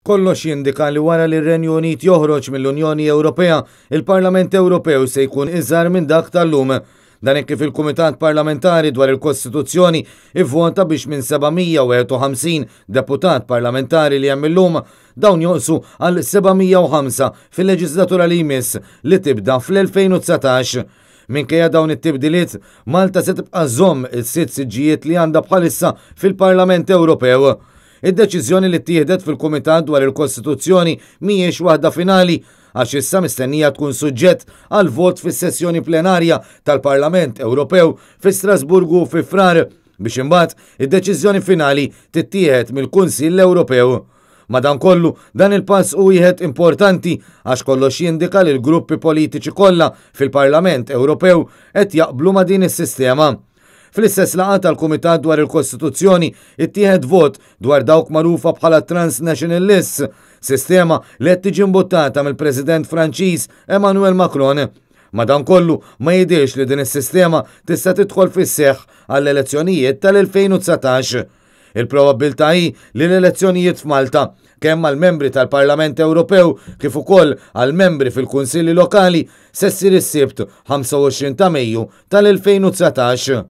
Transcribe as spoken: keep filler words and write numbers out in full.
Kollox jindika li wara li r-Renju Unit joħroġ mill-Unjoni Ewropea, il-Parlament Ewropew se jkun iżgħar minn dak tal-lum. Dan hekk kif il-Kumitat Parlamentari dwar il-Kostituzzjoni ivvota biex minn seba' mija u wieħed u ħamsin deputat parlamentari li hemm illum, dawn jonqsu għal seba' mija u ħamsa fil-leġislatura li jmiss li tibda fl-elfejn u dsatax. Minkejja dawn it-tibdiliet, Malta se tibqa' żżomm is-sitt siġġijiet li għandha bħalissa fil-Parlament Ewropew. Id-deċiżjoni li ttieħdet fil-Kumitat dwar il-Kostituzzjoni mhijiex waħda finali, għax issa mistennija tkun suġġett għal vot fis-sessjoni plenarja tal-Parlament Ewropew fi Strasburgu fi Frar, biex imbagħad id-deċiżjoni finali tittieħed mill-Kunsill Ewropew. Madankollu, dan il-pass hu wieħed importanti, għax kollox jindika li l-gruppi politiċi kollha fil-Parlament Ewropew qed jaqblu ma' din is-sistema. Fl-istess laqgħa tal-Kumitat dwar il-Kostituzzjoni ittieħed vot dwar dawk magħrufa bħala Transnational Lists, sistema li qed tiġi imbuttata mill-President Franċiż Emmanuel Macron. Madankollu, ma jidhirx li din is-sistema tista' tidħol fis-seħħ għall-elezzjonijiet tal-elfejn u dsatax. Il-probabbiltà hi li l-elezzjonijiet f'Malta, kemm għal membri tal-Parlament Ewropew kif ukoll għal membri fil-Kunsilli Lokali, se ssir is-Sibt ħamsa u għoxrin ta' Mejju tal-elfejn u dsatax.